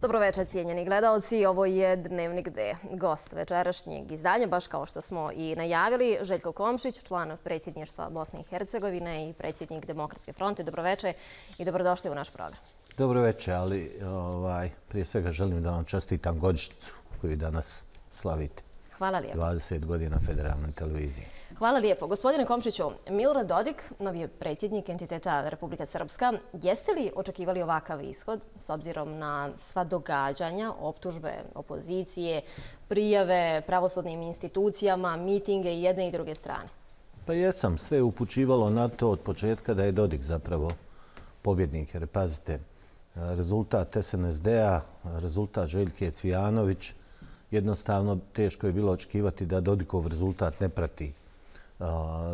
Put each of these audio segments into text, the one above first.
Dobroveče, cijenjeni gledalci. Ovo je Dnevnik D. Gost večerašnjeg izdanja, baš kao što smo i najavili, Željko Komšić, član predsjedništva Bosne i Hercegovine i predsjednik Demokratske fronte. Dobroveče i dobrodošli u naš program. Dobroveče, ali prije svega želim da vam čestitam godišnjicu koju danas slavite. Hvala lijepo. 20 godina federalne televizije. Hvala lijepo. Gospodine Komšiću, Milorad Dodik, novi je predsjednik entiteta Republika Srpska. Jeste li očekivali ovakav ishod s obzirom na sva događanja, optužbe opozicije, prijave pravosudnim institucijama, mitinge i jedne i druge strane? Pa jesam. Sve je upućivalo na to od početka da je Dodik zapravo pobjednik. Jer pazite, rezultat SNSD-a, rezultat Željke Cvijanović, jednostavno teško je bilo očekivati da Dodikov rezultat ne prati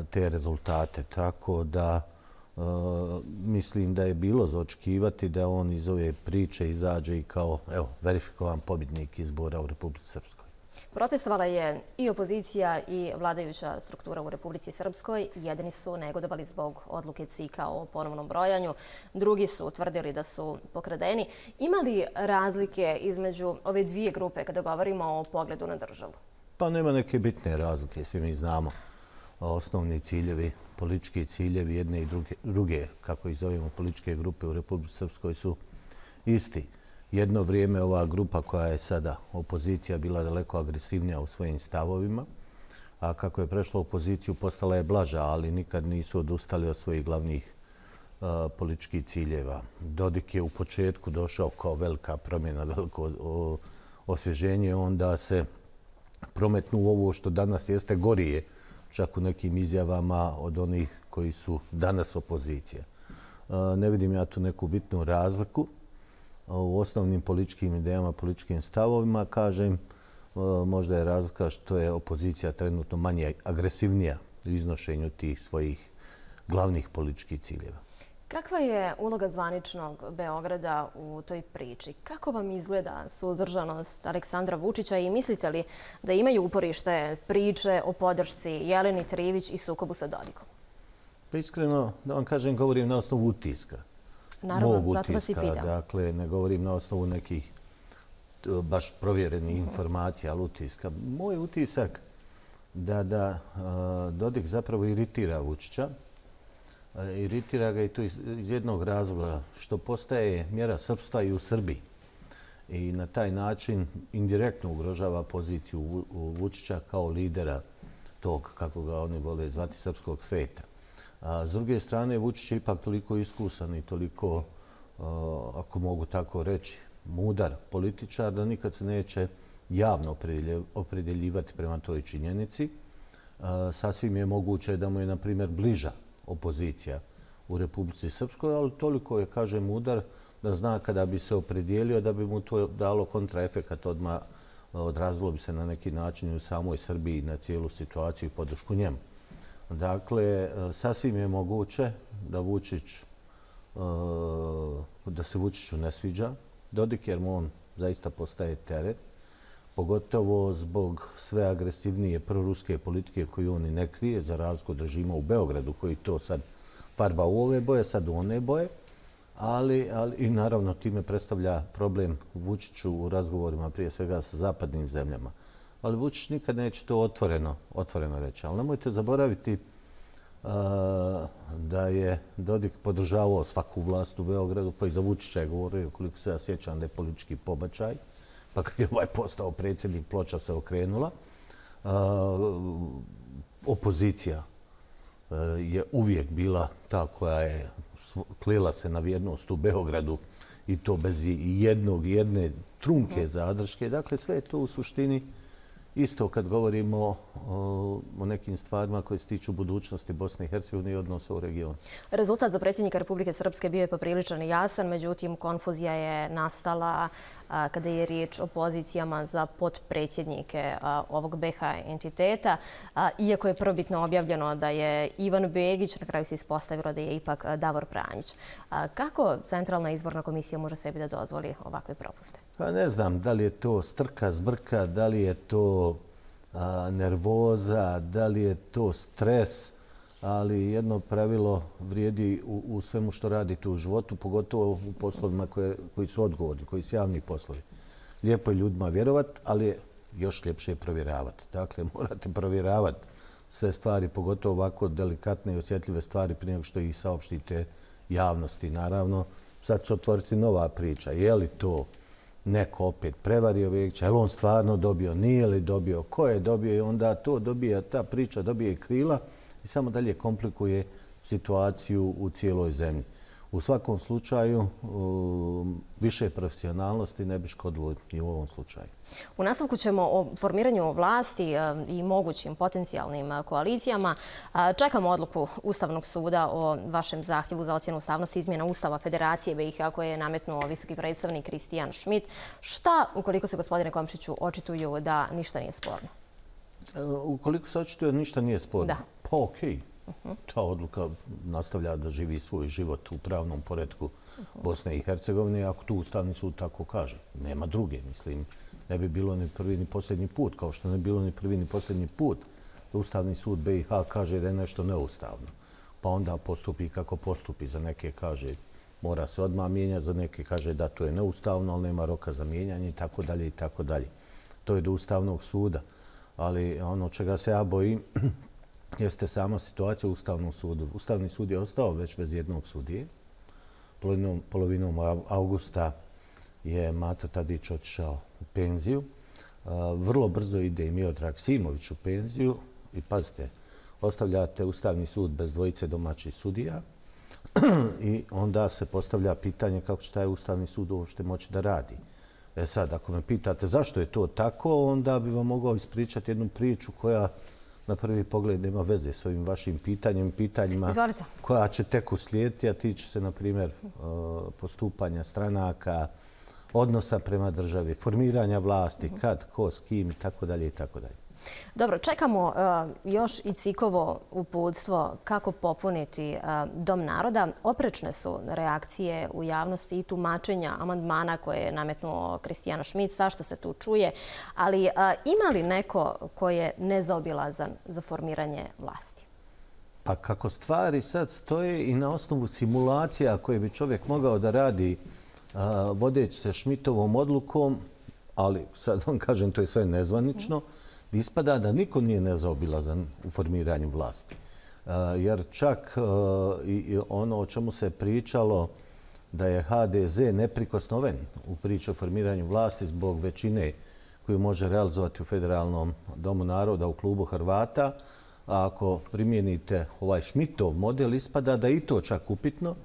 te rezultate. Tako da mislim da je bilo za očekivati da on iz ove priče izađe i kao verifikovan pobjednik izbora u Republici Srpskoj. Protestovala je i opozicija i vladajuća struktura u Republici Srpskoj. Jedni su negodovali zbog odluke CIK-a o ponovnom brojanju, drugi su tvrdili da su pokradeni. Ima li razlike između ove dvije grupe kada govorimo o pogledu na državu? Pa nema neke bitne razlike, svi mi znamo. Osnovni ciljevi, politički ciljevi jedne i druge, kako ih zovemo, političke grupe u Republici Srpskoj su isti. Jedno vrijeme ova grupa koja je sada opozicija bila daleko agresivnija u svojim stavovima, a kako je prešla u opoziciju postala je blaža, ali nikad nisu odustali od svojih glavnih političkih ciljeva. Dodik je u početku došao kao velika promjena, veliko osvježenje, onda se prometnu ovo što danas jeste gorije, čak u nekim izjavama od onih koji su danas opozicija. Ne vidim ja tu neku bitnu razliku u osnovnim političkim idejama, političkim stavovima. Kažem, možda je razlika što je opozicija trenutno manje agresivnija u iznošenju tih svojih glavnih političkih ciljeva. Kakva je uloga zvaničnog Beograda u toj priči? Kako vam izgleda suzdržanost Aleksandra Vučića i mislite li da imaju uporište priče o podršci Jeleni Trivić i sukobu sa Dodikom? Pa iskreno, da vam kažem, govorim na osnovu utiska. Naravno, zato vas i pitam. Dakle, ne govorim na osnovu nekih baš provjerenih informacija, ali utiska. Moj utisak da Dodik zapravo iritira Vučića. Iritira ga i to iz jednog razloga što postaje mjera srpstva i u Srbiji. I na taj način indirektno ugrožava poziciju Vučića kao lidera tog, kako ga oni vole zvati, srpskog sveta. A s druge strane, Vučić je ipak toliko iskusan i toliko, ako mogu tako reći, mudar političar da nikad se neće javno opredjeljivati prema toj činjenici. Sasvim je moguće da mu je, na primjer, bliža opozicija u Republici Srpskoj, ali toliko je, kažem, mudar da zna kada bi se opredijelio da bi mu to dalo kontraefekat odmah, odrazilo bi se na neki način u samoj Srbiji na cijelu situaciju i podršku njemu. Dakle, sasvim je moguće da se Vučiću ne sviđa Dodik, jer mu on zaista postaje teret, pogotovo zbog sve agresivnije proruske politike koju on i ne krije, za razliku od režima u Beogradu koji to sad farba u ove boje, sad u one boje, ali i naravno time predstavlja problem Vučiću u razgovorima prije svega sa zapadnim zemljama. Ali Vučić nikad neće to otvoreno reći. Ali nemojte zaboraviti da je Dodik podržavao svaku vlast u Beogradu, pa i za Vučića je govorio, koliko se ja sjećam, da je politički pobačaj. Pa kad je ovaj postao predsjednik, ploča se okrenula. Opozicija je uvijek bila ta koja je klela se na vjernost u Beogradu i to bez jedne trunke zadrške. Dakle, sve je to u suštini isto kad govorimo o nekim stvarima koje se tiču budućnosti Bosne i Hercegovine i odnosa u regionu. Rezultat za predsjednika Republike Srpske bio je popriličan i jasan, međutim konfuzija je nastala kada je riječ o pozicijama za potpredsjednike ovog BiH entiteta. Iako je prvobitno objavljeno da je Ivan Begić, na kraju se ispostavilo da je ipak Davor Pranjić. Kako Centralna izborna komisija može sebi da dozvoli ovakve propuste? Pa ne znam da li je to strka, zbrka, da li je to nervoza, da li je to stres. ali jedno pravilo vrijedi u svemu što radite u životu, pogotovo u poslovima koji su odgovorni, koji su javni poslovi. Lijepo je ljudima vjerovati, ali je još ljepše je provjeravati. Dakle, morate provjeravati sve stvari, pogotovo ovako delikatne i osjetljive stvari prije nego što ih saopštite javnosti. Naravno, sad će otvoriti nova priča. Je li to neko opet prevario Vekića? Je li on stvarno dobio? Nije li dobio? Ko je dobio? I onda to dobija, ta priča dobije krila i samo dalje komplikuje situaciju u cijeloj zemlji. U svakom slučaju, više profesionalnosti ne bi škodilo i u ovom slučaju. U nastavku ćemo o formiranju vlasti i mogućim potencijalnim koalicijama. Čekamo odluku Ustavnog suda o vašem zahtjevu za ocjenu ustavnosti izmjena Ustava Federacije BiH koje je nametnuo visoki predstavnik Kristijan Šmit. Šta, ukoliko se, gospodine Komšiću, očituju da ništa nije sporno? Ukoliko se očituje da ništa nije sporno? Da. Pa okej. Ta odluka nastavlja da živi svoj život u pravnom poretku Bosne i Hercegovine, ako tu Ustavni sud tako kaže. Nema druge, mislim. Ne bi bilo ni prvi ni posljednji put, kao što ne bi bilo ni prvi ni posljednji put da Ustavni sud BiH kaže da je nešto neustavno. Pa onda postupi kako postupi. Za neke kaže mora se odmah mijenjati, za neke kaže da to je neustavno, ali nema roka za mijenjanje i tako dalje i tako dalje. To je do Ustavnog suda. Ali ono čega se ja bojim jeste sama situacija u Ustavnom sudu. Ustavni sud je ostao već bez jednog sudije. Polovinom avgusta je Mato Tadić otišao u penziju. Vrlo brzo ide i Miodrag Simović u penziju. I pazite, ostavljate Ustavni sud bez dvojice domaćih sudija i onda se postavlja pitanje kako će taj Ustavni sud uopšte moći da radi. Sad, ako me pitate zašto je to tako, onda bi vam mogao ispričati jednu priču koja na prvi pogled nema veze s ovim vašim pitanjima Izvolite. koja će tek uslijediti, a tiče se, na primjer, postupanja stranaka, odnosa prema državi, formiranja vlasti, kad, ko, s kim i tako dalje i tako dalje. Dobro, čekamo još i CIK-ovo uputstvo kako popuniti Dom naroda. Oprečne su reakcije u javnosti i tumačenja amandmana koje je nametnuo Kristijan Šmit, svašta se tu čuje. Ali ima li neko ko je nezaobilazan za formiranje vlasti? Pa kako stvari sad stoje i na osnovu simulacija koje bi čovjek mogao da radi vodeći se Šmitovom odlukom, ali sad vam kažem to je sve nezvanično, ispada da niko nije nezaobilazan u formiranju vlasti. Jer čak i ono o čemu se pričalo da je HDZ neprikosnoven u priči o formiranju vlasti zbog većine koju može realizovati u Federalnom domu naroda u klubu Hrvata, a ako primijenite ovaj Šmitov model, ispada da je i to čak upitno,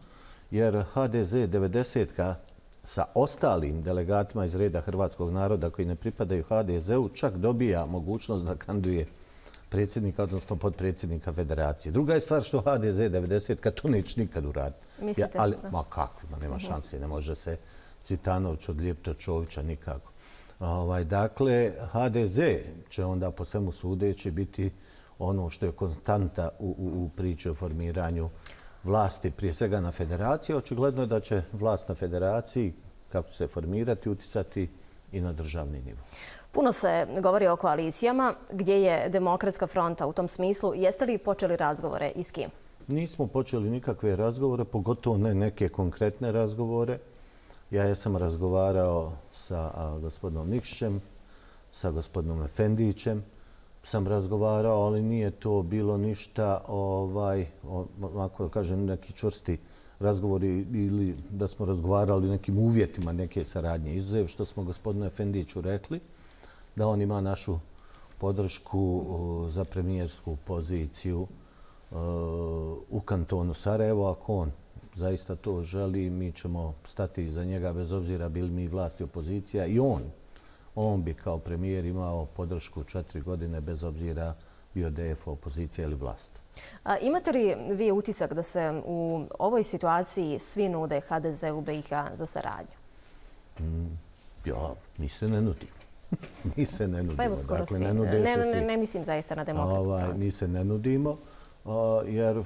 jer HDZ 90-ka sa ostalim delegatima iz reda hrvatskog naroda koji ne pripadaju HDZ-u čak dobija mogućnost da kandiduje predsjednika, odnosno potpredsjednika federacije. Druga je stvar što HDZ 90-ka to neće nikad uraditi. Mislite? Ma kako, nema šanse, ne može se Cvitanović odlijepiti od Čovića nikako. Dakle, HDZ će onda po svemu sudeći biti ono što je konstanta u priči o formiranju vlasti, prije svega na federaciji. Očigledno je da će vlast na federaciji, kako će se formirati, uticati i na državni nivo. Puno se govori o koalicijama. Gdje je Demokratska fronta u tom smislu? Jeste li počeli razgovore i s kim? Nismo počeli nikakve razgovore, pogotovo ne neke konkretne razgovore. Ja sam razgovarao sa gospodinom Nikšićem, sa gospodinom Efendićem, sam razgovarao, ali nije to bilo ništa, ako da kažem, neki čvrsti razgovori ili da smo razgovarali o nekim uvjetima neke saradnje. Izuzev što smo gospodinu Efendiću rekli da on ima našu podršku za premijersku poziciju u kantonu Sarajevo. Ako on zaista to želi, mi ćemo stati iza njega bez obzira bili mi vlast i opozicija i on bi kao premijer imao podršku 4 godine bez obzira bio DF opozicija ili vlast. Imate li vi utisak da se u ovoj situaciji svi nude HDZ-u BiH za saradnju? Ja, mi se ne nudimo. Mi se ne nudimo. Pa evo skoro svi. Ne mislim zaista na Demokratsku frontu. Mi se ne nudimo jer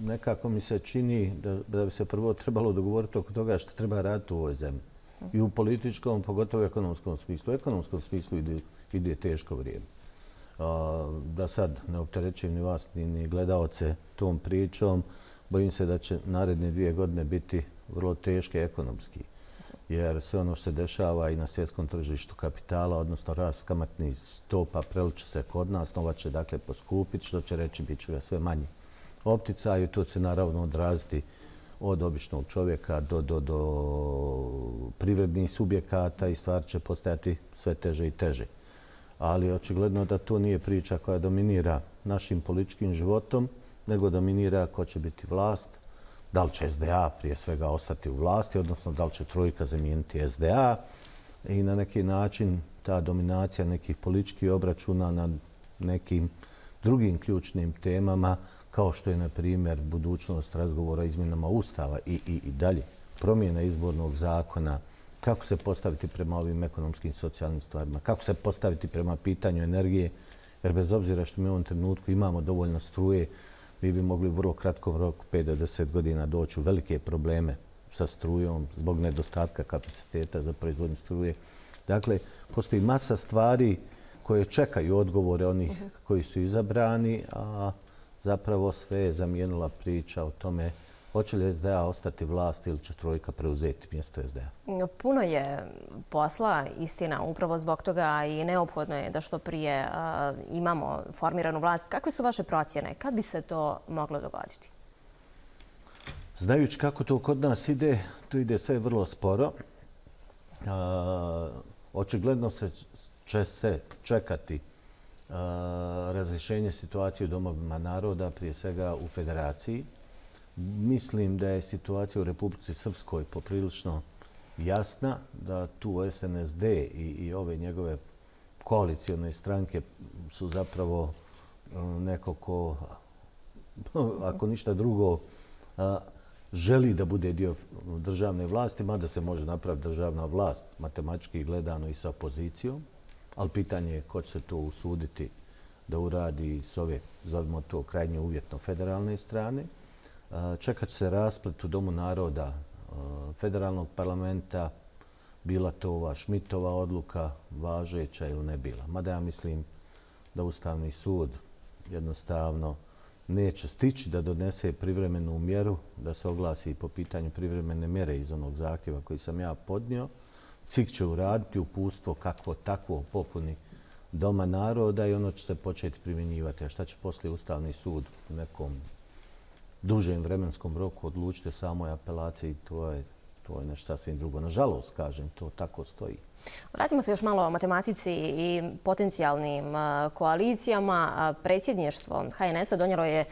nekako mi se čini da bi se prvo trebalo dogovoriti oko toga što treba raditi u ovoj zemlji. I u političkom, pogotovo u ekonomskom smislu. U ekonomskom smislu ide teško vrijeme. Da sad ne opterećujem ni vas ni gledaoce tom pričom, bojim se da će naredne 2 godine biti vrlo teške ekonomski. Jer sve ono što se dešava i na svjetskom tržištu kapitala, odnosno rast kamatnih stopa, preliče se kod nas, nova će dakle poskupiti, što će reći bit će sve manji opticaj i to će se naravno odraziti od običnog čovjeka do privrednih subjekata i stvar će postajati sve teže i teže. Ali očigledno da to nije priča koja dominira našim političkim životom, nego dominira ko će biti vlast, da li će SDA prije svega ostati u vlasti, odnosno da li će trojka zamijeniti SDA i na neki način ta dominacija nekih političkih obračuna na nekim drugim ključnim temama, kao što je, na primjer, budućnost razgovora o izmjenama Ustava i dalje, promjena izbornog zakona, kako se postaviti prema ovim ekonomskim i socijalnim stvarima, kako se postaviti prema pitanju energije, jer bez obzira što mi u ovom trenutku imamo dovoljno struje, mi bi mogli u vrlo kratkom roku, 5 do 10 godina, doći u velike probleme sa strujom zbog nedostatka kapaciteta za proizvodnju struje. Dakle, postoji masa stvari koje čekaju odgovore onih koji su izabrani, a zapravo sve je zamijenila priča o tome hoće li SDA ostati vlast ili će trojka preuzeti mjesto SDA. Puno je posla, istina, upravo zbog toga i neophodno je da što prije imamo formiranu vlast. Kakve su vaše procjene? Kad bi se to moglo dogoditi? Znajući kako to kod nas ide, to ide sve vrlo sporo. Očigledno će se čekati razrješenje situacije u domovima naroda, prije svega u federaciji. Mislim da je situacija u Republici Srpskoj poprilično jasna, da tu SNSD i ove njegove koalicione stranke su zapravo neko ko, ako ništa drugo, želi da bude dio državne vlasti, mada se može napraviti državna vlast matematički gledano i sa opozicijom, ali pitanje je ko će se to usuditi da uradi s ove, zovimo to, krajnje uvjetno federalne strane. Čekat će se rasplet u Domu naroda federalnog parlamenta, bila to ova Šmitova odluka važeća ili ne bila. Mada ja mislim da Ustavni sud jednostavno neće stići da donese privremenu mjeru, da se oglasi po pitanju privremene mjere iz onog zahtjeva koji sam ja podnio. CIK će uraditi uputstvo kakvo takvo popuni Doma naroda i ono će se početi primjenjivati. A šta će poslije Ustavni sud u nekom dužem vremenskom roku odlučiti o samoj apelaciji, to je nešto sasvim drugo. Nažalost, kažem, to tako stoji. Vratimo se još malo o matematici i potencijalnim koalicijama. Predsjedništvo HNS-a donijelo je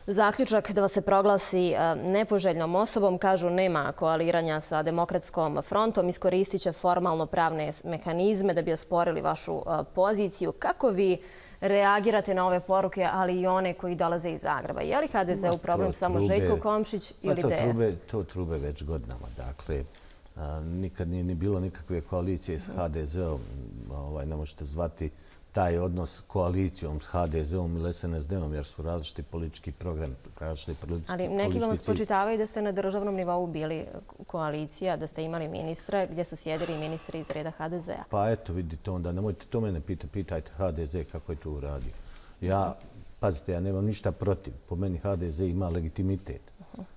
zaključak da vas se proglasi nepoželjnom osobom. Kažu nema koaliranja sa Demokratskom frontom. Iskoristit će formalno pravne mehanizme da bi osporili vašu poziciju. Kako vi reagirate na ove poruke, ali i one koji dolaze iz Zagreba? Je li HDZ-u problem samo Željko Komšić ili DF? To trube već godinama. Dakle, nikad nije ni bilo nikakve koalicije s HDZ-om. Ne možete zvati taj odnos koalicijom s HDZ-om ili SNSD-om, jer su različiti politički programi, različiti politički cilj. Ali neki vam spočitavaju da ste na državnom nivou bili koalicija, da ste imali ministre gdje su sjedili ministri iz reda HDZ-a. Pa eto, vidite onda, nemojte to mene pitajte HDZ kako je to uradio. Pazite, ja nemam ništa protiv. Po meni HDZ ima legitimitet.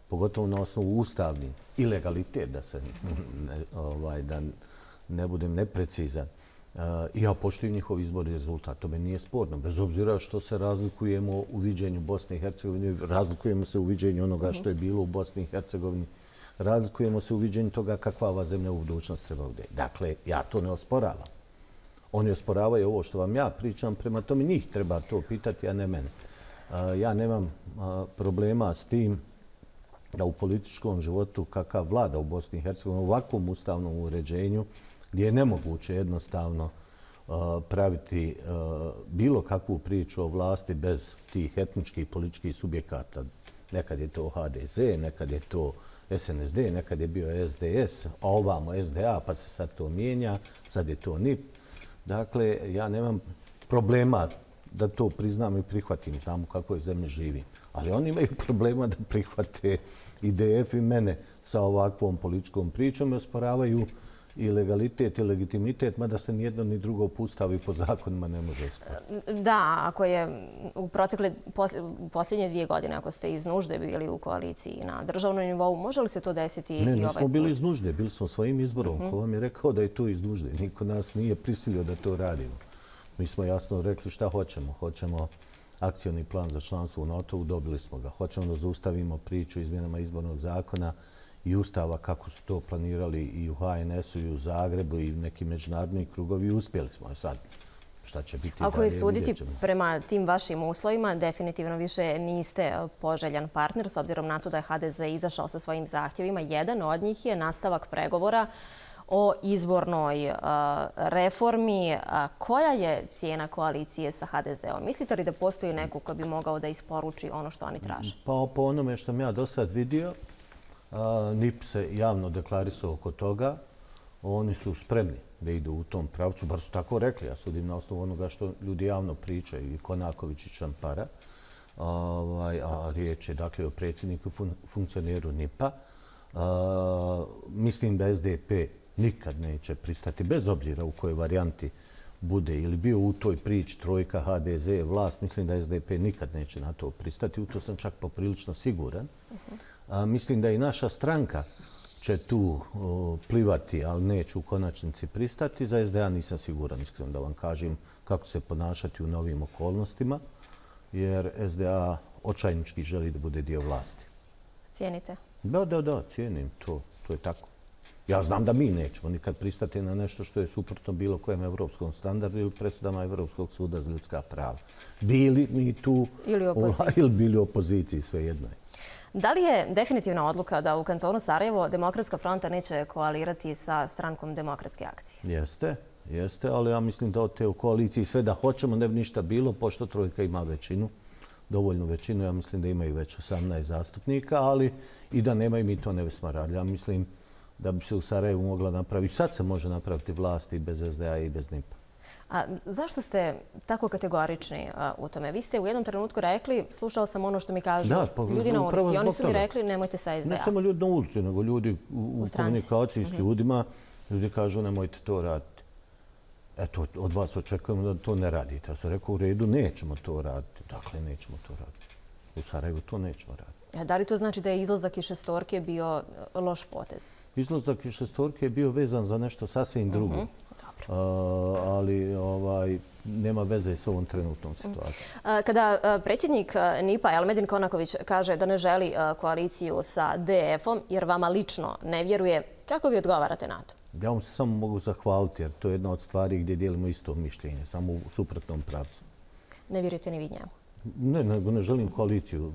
Pogotovo na osnovu ustavni i legalitet, da ne budem neprecizan. I ja poštujem njihov izborni rezultat. To me nije sporno. Bez obzira što se razlikujemo u viđenju Bosne i Hercegovine, razlikujemo se u viđenju onoga što je bilo u Bosni i Hercegovini, razlikujemo se u viđenju toga kakva ova zemlja u budućnosti treba bude. Dakle, ja to ne osporavam. Oni osporavaju ovo što vam ja pričam, prema tome njih treba to pitati, a ne mene. Ja nemam problema s tim da u političkom životu kakav vlada u Bosni i Hercegovini, u ovakvom ustavnom uređenju, gdje je nemoguće jednostavno praviti bilo kakvu priču o vlasti bez tih etničkih i političkih subjekata. Nekad je to HDZ, nekad je to SNSD, nekad je bio SDS, a ovamo SDA, pa se sad to mijenja, sad je to NIP. Dakle, ja nemam problema da to priznam i prihvatim, znamo kako je zemlja živi. Ali oni imaju problema da prihvate IDF i mene sa ovakvom političkom pričom i osporavaju i legalitet i legitimitet, mada se ni jedno ni drugo po Ustavu i po zakonima ne može osporiti. Da, ako je u posljednje 2 godine, ako ste iz nužde bili u koaliciji na državnom nivou, može li se to desiti i ovaj put? Ne, nismo bili iz nužde, bili smo svojim izborom. Ko vam je rekao da je to iz nužde? Niko nas nije prisilio da to radimo. Mi smo jasno rekli šta hoćemo. Hoćemo akcioni plan za članstvo u NATO-u, dobili smo ga. Hoćemo da zaustavimo priču izmjenama izbornog zakona i Ustava kako su to planirali i u HNS-u i u Zagrebu i u nekim međunarodnim krugovi. Uspjeli smo. Sad, šta će biti dalje? Ako je suditi prema tim vašim uslovima, definitivno više niste poželjan partner, s obzirom na to da je HDZ izašao sa svojim zahtjevima. Jedan od njih je nastavak pregovora o izbornoj reformi. Koja je cijena koalicije sa HDZ-om? Mislite li da postoji neko ko bi mogao da isporuči ono što oni traže? Pa po onome što sam ja do sad vidio, NIP se javno deklarisao oko toga. Oni su spremni da idu u tom pravcu, bar su tako rekli. Ja sudim na osnovu onoga što ljudi javno pričaju, i Konaković i Čampara. A riječ je dakle o predsjedniku, funkcioneru NIP-a. Mislim da SDP nikad neće pristati, bez obzira u kojoj varijanti bude ili bio u toj priči trojka, HDZ, vlast. Mislim da SDP nikad neće na to pristati. U to sam čak poprilično siguran. Mislim da i naša stranka će tu plivati, ali neće u konačnici pristati. Za SDA nisam siguran, iskreno da vam kažem, kako se ponašati u novim okolnostima, jer SDA očajnički želi da bude dio vlasti. Cijenite? Da, cijenim to. To je tako. Ja znam da mi nećemo nikad pristati na nešto što je suprotno bilo kojem evropskom standardu ili presudama Evropskog suda za ljudska prava. Bili mi tu ili bili u opoziciji, svejedno je. Da li je definitivna odluka da u kantonu Sarajevo Demokratska fronta neće koalirati sa strankom Demokratske akcije? Jeste, ali ja mislim da od te u koaliciji sve da hoćemo ne bi ništa bilo, pošto trojka ima većinu, dovoljnu većinu. Ja mislim da imaju već 18 zastupnika, ali i da nemaju mi to ne bismo radili. Ja mislim da bi se u Sarajevu mogla napraviti. Sad se može napraviti vlast i bez SDA i bez NIP-a. A zašto ste tako kategorični u tome? Vi ste u jednom trenutku rekli, slušao sam ono što mi kažu ljudi na ulici. Oni su mi rekli nemojte sa SDA. Ne samo ljudi na ulici, nego ljudi u komunikaciji s ljudima. Ljudi kažu nemojte to raditi. Eto, od vas očekujemo da to ne radite. Ja sam rekao u redu, nećemo to raditi. Dakle, nećemo to raditi. U Sarajevu to nećemo raditi. Da li to znači da je izlazak iz šestorke bio loš potez? Izlazak iz šestorke je bio vezan za nešto sasvim drugo. Ali nema veze s ovom trenutnom situacijom. Kada predsjednik NIP-a Elmedin Konaković kaže da ne želi koaliciju sa DF-om jer vama lično ne vjeruje, kako vi odgovarate na to? Ja vam se samo mogu zahvaliti jer to je jedna od stvari gdje dijelimo isto mišljenje, samo u suprotnom pravcu. Ne vjerujete ni vi njemu? Ne, nego ne želim koaliciju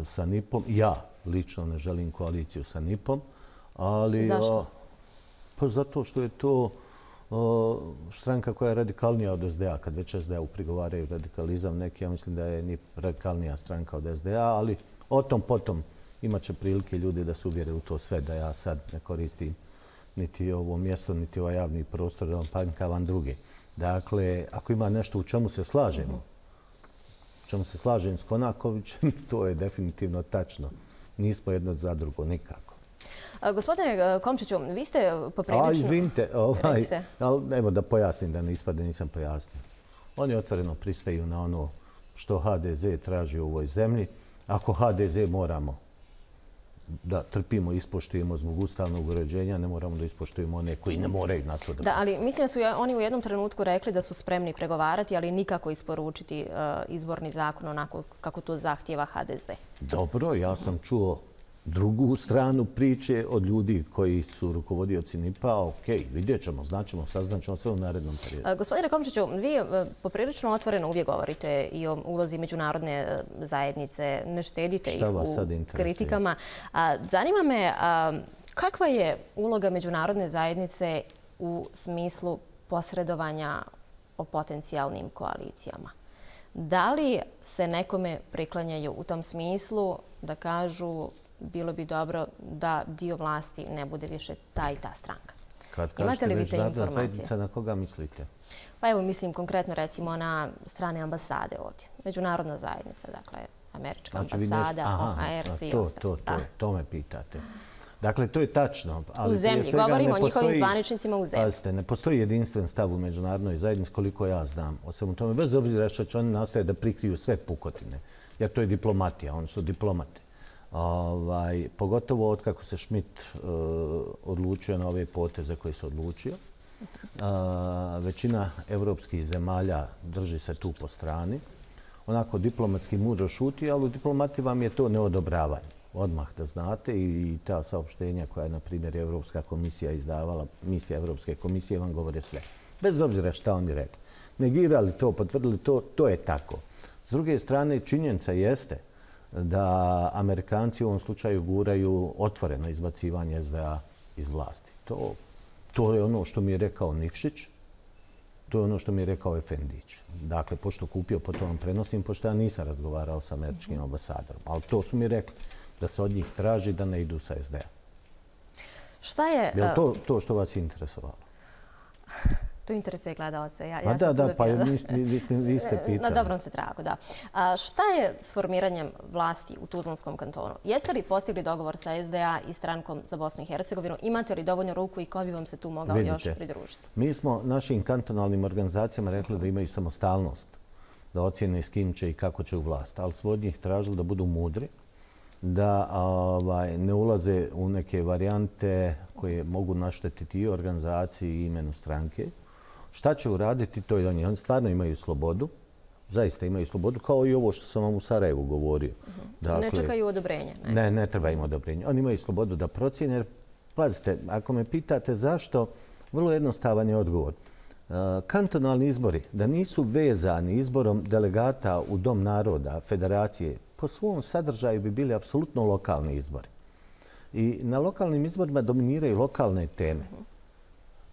sa NIP-om. Ja lično ne želim koaliciju sa NIP-om. Zašto? Pa zato što je to stranka koja je radikalnija od SDA. Kad već SDA prigovaraju radikalizam neki, ja mislim da je NIP radikalnija stranka od SDA, ali o tom potom imat će prilike ljudi da se uvjere u to sve, da ja sad ne koristim niti ovo mjesto, niti ovaj javni prostor, da vam panjkavam druge. Dakle, ako ima nešto u čemu se slažemo, s Konakovićem, to je definitivno tačno. Nismo jedno za drugo, nikako. Gospodine Komšiću, vi ste poprilično... Izvinite, evo da pojasnim, da ne ispade, nisam pojasnio. Oni otvoreno pristaju na ono što HDZ traži u ovoj zemlji. Ako HDZ moramo da trpimo i ispoštujemo zbog ustavnog uređenja, ne moramo da ispoštujemo one koji ne moraju na to da... Da, ali mislim da su oni u jednom trenutku rekli da su spremni pregovarati, ali nikako isporučiti izborni zakon onako kako to zahtijeva HDZ. Dobro, ja sam čuo drugu stranu priče od ljudi koji su rukovodioci NIP-a. Okej, vidjet ćemo, saznaćemo sve u narednom periodu. Gospodine Komšiću, vi poprilično otvoreno uvijek govorite i o ulozi međunarodne zajednice, ne štedite ih u kritikama. Zanima me kakva je uloga međunarodne zajednice u smislu posredovanja o potencijalnim koalicijama? Da li se nekome priklanjaju u tom smislu da kažu bilo bi dobro da dio vlasti ne bude više ta i ta stranka? Kad kažete međunarodna zajednica, na koga mislite? Pa evo, mislim konkretno recimo na strane ambasade ovdje. Međunarodna zajednica, dakle, američka ambasada, OHR, svi ostali. To me pitate. Dakle, to je tačno. U zemlji, govorimo o njihovim zvaničnicima u zemlji. Pazite, ne postoji jedinstven stav u međunarodnoj zajednici koliko ja znam. O svemu tome, bez obzira što će oni nastoje da prikriju sve pukotine. Jer to je diplomatija, oni su diplomati. Pogotovo od kako se Schmidt odlučio na ove poteze koje se odlučio. Većina evropskih zemalja drži se tu po strani. Onako diplomatski mudro šuti, ali u diplomati vam je to neodobravanje. Odmah da znate i ta saopštenja koja je, na primjer, Evropska komisija izdavala, misija Evropske komisije vam govore sve. Bez obzira šta oni rekli. Negirali to, potvrdili to, to je tako. S druge strane, činjenica jeste da Amerikanci u ovom slučaju guraju otvoreno izbacivanje SDA iz vlasti. To je ono što mi je rekao Nikšić, to je ono što mi je rekao Efendić. Dakle, pošto kupio, potom vam prenosim, pošto ja nisam razgovarao sa američkim ambasadorom. Ali to su mi rekli, da se od njih traži da ne idu sa SDA. Šta je... Je li to što vas interesovalo? To interesuje gledalce. Pa vi ste pitali. Na dobrom ste tragu, da. Šta je s formiranjem vlasti u Tuzlanskom kantonu? Jeste li postigli dogovor sa SDA i strankom za Bosnu i Hercegovinu? Imate li dovoljno ruku i ko bi vam se tu mogao još pridružiti? Mi smo našim kantonalnim organizacijama rekli da imaju samostalnost, da ocjene s kim će i kako će u vlast. Ali smo od njih tražili da budu mudri, da ne ulaze u neke varijante koje mogu naštetiti i organizaciji i imenu stranke. Šta će uraditi, to je oni. Oni stvarno imaju slobodu, zaista imaju slobodu, kao i ovo što sam vam u Sarajevu govorio. Ne čekaju odobrenje? Ne treba im odobrenje. Oni imaju slobodu da procjene. Jer, pazite, ako me pitate zašto, vrlo jednostavan je odgovor. Kantonalni izbori, da nisu vezani izborom delegata u Dom naroda, federacije, po svom sadržaju bi bili apsolutno lokalni izbori. I na lokalnim izborima dominiraju lokalne teme.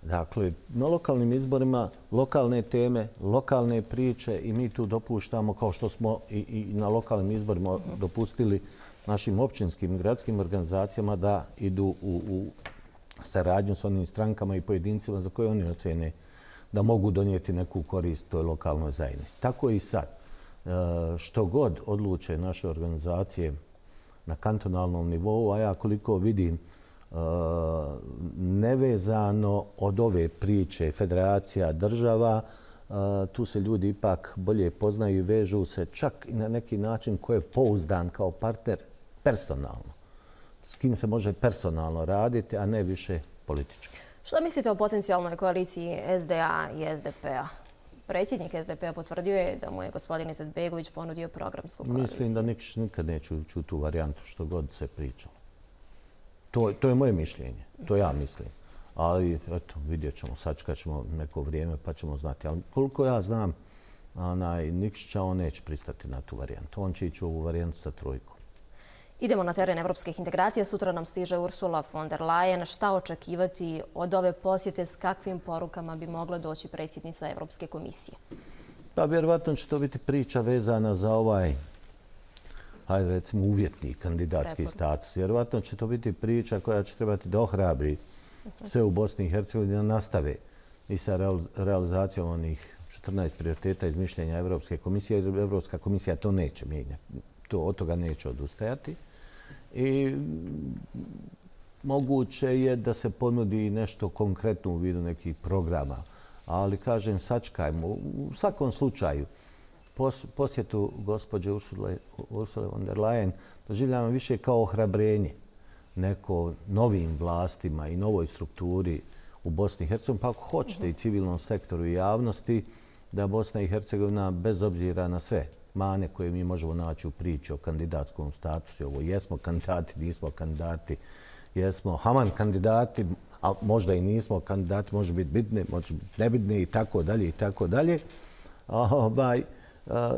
Dakle, na lokalnim izborima lokalne teme, lokalne priče i mi tu dopuštamo, kao što smo i na lokalnim izborima dopustili našim općinskim i gradskim organizacijama da idu u saradnju s onim strankama i pojedincima za koje oni ocene da mogu donijeti neku korist toj lokalnoj zajednici. Tako i sad. Što god odluče naše organizacije na kantonalnom nivou, a ja koliko vidim nevezano od ove priče federacija, država, tu se ljudi ipak bolje poznaju i vežu se čak i na neki način ko je pouzdan kao partner personalno. S kim se može personalno raditi, a ne više politički. Što mislite o potencijalnoj koaliciji SDA i SDP-a? Predsjednik SDP-a potvrdio je da mu je gospodin Izetbegović ponudio programsku koaliciju. Mislim da nikad neće ući u tu varijantu što god se pričalo. To je moje mišljenje. To ja mislim. Ali, eto, vidjet ćemo. Sačekat ćemo neko vrijeme pa ćemo znati. Ali koliko ja znam, Nikšića, on neće pristati na tu varijantu. On će ići u ovu varijantu sa trojkom. Idemo na teren evropskih integracija. Sutra nam stiže Ursula von der Leyen. Šta očekivati od ove posjete? S kakvim porukama bi mogla doći predsjednica Evropske komisije? Pa vjerovatno će to biti priča vezana za ovaj, hajde recimo, uvjetni kandidatski status. Vjerovatno će to biti priča koja će trebati da ohrabri sve u Bosni i Hercegovini da nastave i sa realizacijom onih 14 prioriteta iz mišljenja Evropske komisije. Evropska komisija to neće mijenjati. Od toga neće odustajati. I moguće je da se ponudi nešto konkretno u vidu nekih programa. Ali, kažem, sačekajmo. U svakom slučaju, posjetu gospođe Ursule von der Leyen doživljavam više kao ohrabrenje neko novim vlastima i novoj strukturi u Bosni i Hercegovini, pa ako hoćete i civilnom sektoru i javnosti, da Bosna i Hercegovina, bez obzira na sve mane koje mi možemo naći u priči o kandidatskom statusu, ovo jesmo kandidati, nismo kandidati, jesmo haman kandidati, a možda i nismo kandidati, može biti bitne, može biti nebitne i tako dalje i tako dalje.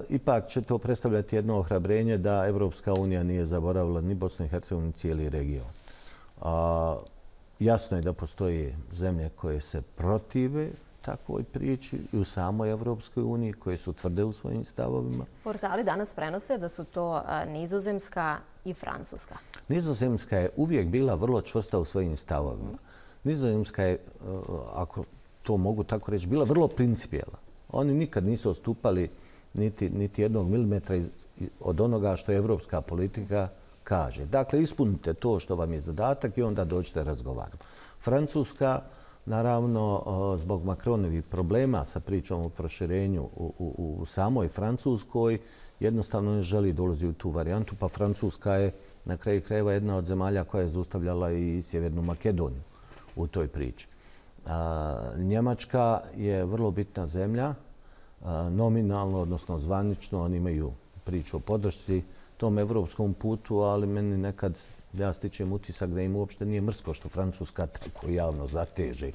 Ipak će to predstavljati jedno ohrabrenje da Evropska unija nije zaboravila ni Bosnu i Hercegovinu, ni cijeli region. Jasno je da postoje zemlje koje se protive takvoj priči i u samoj Evropskoj uniji, koje su tvrde u svojim stavovima. Portali danas prenose da su to Nizozemska i Francuska. Nizozemska je uvijek bila vrlo čvrsta u svojim stavovima. Nizozemska je, ako to mogu tako reći, bila vrlo principijelna. Oni nikad nisu odstupali niti jednog milimetra od onoga što je evropska politika kaže. Dakle, ispunite to što vam je zadatak i onda dođete razgovarati. Francuska, naravno, zbog Macronovih problema sa pričom o proširenju u samoj Francuskoj, jednostavno ne želi dolazi u tu varijantu, pa Francuska je na kraju krajeva jedna od zemalja koja je zaustavljala i Sjevernu Makedoniju u toj priči. Njemačka je vrlo bitna zemlja, nominalno, odnosno zvanično, oni imaju priču o podršci tom evropskom putu, ali meni nekad, ja stičem utisak da im uopšte nije mrsko što Francuska tako javno zateže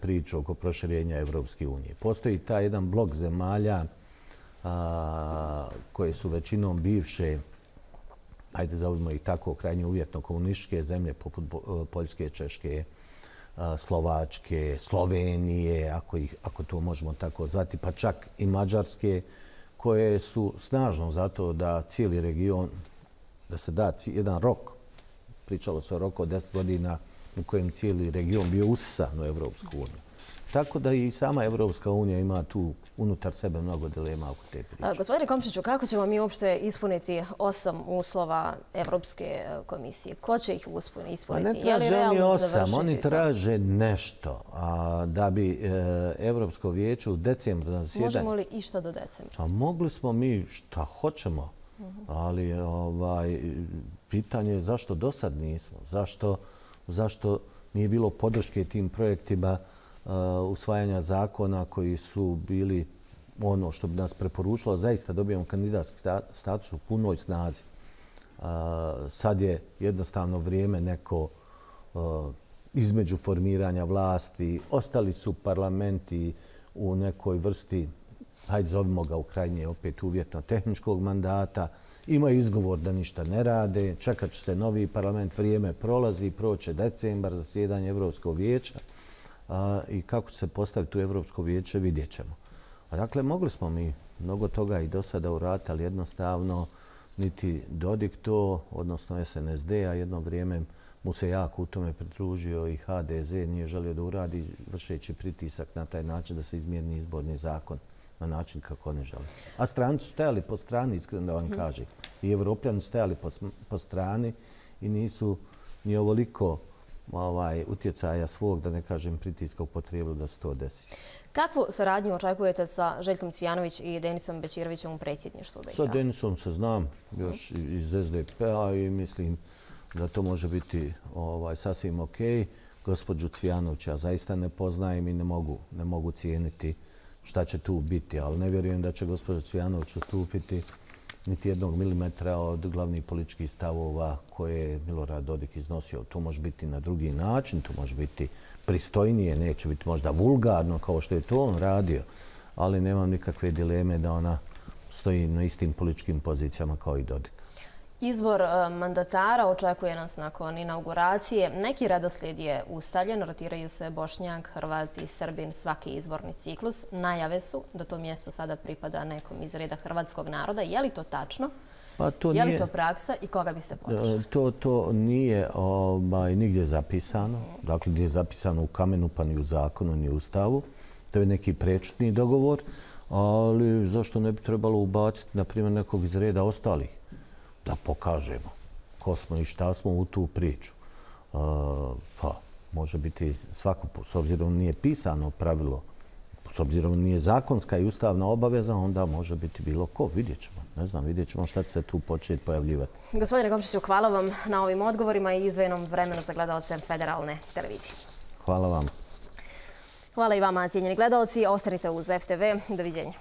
priču oko proširenja Evropske unije. Postoji taj jedan blok zemalja koje su većinom bivše, ajde zovimo ih tako, krajnje uvjetno komunističke zemlje poput Poljske, Češke, Slovačke, Slovenije, ako to možemo tako zvati, pa čak i Mađarske, koje su snažno zato da cijeli region, da se da jedan rok, pričalo se o roku od 10 godina u kojem cijeli region bio usisan u Evropsku uniju. Tako da i sama Evropska unija ima tu unutar sebe mnogo dilema oko te priče. Gospodine Komšiću, kako ćemo mi uopšte ispuniti 8 uslova Evropske komisije? Ko će ih ispuniti? Pa ne traže oni 8, oni traže nešto da bi Evropsko vijeće u decembru na zasjedanju... Možemo li išta do decembra? Pa mogli smo mi šta hoćemo, ali pitanje je zašto do sad nismo. Zašto nije bilo podrške tim projektima usvajanja zakona koji su bili ono što bi nas preporučilo, zaista dobijemo kandidatski status u punoj snazi. Sad je jednostavno vrijeme neko između formiranja vlasti. Ostali su parlamenti u nekoj vrsti, hajde zovimo ga u krajnje opet uvjetno tehničkog mandata. Imaju izgovor da ništa ne rade, čekat će se novi parlament, vrijeme prolazi, proće decembar, zasjedanje Evropskog vijeća. I kako će se postaviti u Evropsko vijeće, vidjet ćemo. Dakle, mogli smo mi mnogo toga i do sada uraditi, ali jednostavno niti Dodik to, odnosno SNSD, a jedno vrijeme mu se jako u tome pridružio i HDZ nije želio da uradi, vršeći pritisak na taj način da se izmijeni izborni zakon na način kako oni žele. A stranci su stajali po strani, iskreno da vam kažem. I Evropljani su stajali po strani i nisu ni ovoliko utjecaja svog, da ne kažem pritiska, upotrijebili da se to desi. Kakvu saradnju očekujete sa Željkom Cvijanović i Denisom Bećirovićem u predsjedništvu BiH? Sa Denisom se znam još iz SDP-a i mislim da to može biti sasvim ok. Gospođu Cvijanovića ja zaista ne poznajem i ne mogu cijeniti šta će tu biti, ali ne vjerujem da će gospođa Cvijanović ustupiti niti jednog milimetra od glavnih političkih stavova koje je Milorad Dodik iznosio. To može biti na drugi način, to može biti pristojnije, neće biti možda vulgarno kao što je to on radio, ali nemam nikakve dileme da ona stoji na istim političkim pozicijama kao i Dodik. Izbor mandatara očekuje nas nakon inauguracije. Neki redoslijed je ustaljen, rotiraju se Bošnjak, Hrvat i Srbin svaki izborni ciklus. Najave su da to mjesto sada pripada nekom iz reda hrvatskog naroda. Je li to tačno? Je li to praksa i koga biste podržali? To nije nigdje zapisano. Dakle, nije zapisano u kamenu, pa ni u zakonu, ni u ustavu. To je neki prečutni dogovor, ali zašto ne bi trebalo ubaciti, na primjer, nekog iz reda ostalih? Da pokažemo ko smo i šta smo u tu priču. Pa, može biti svako, s obzirom nije pisano pravilo, s obzirom nije zakonska i ustavna obaveza, onda može biti bilo ko. Vidjet ćemo. Ne znam, vidjet ćemo šta će se tu početi pojavljivati. Gospodine Komšiću, hvala vam na ovim odgovorima i izdvojenom vremenu za gledalce Federalne televizije. Hvala vam. Hvala i vama, cijenjeni gledalci. Ostanite uz FTV. Doviđenja.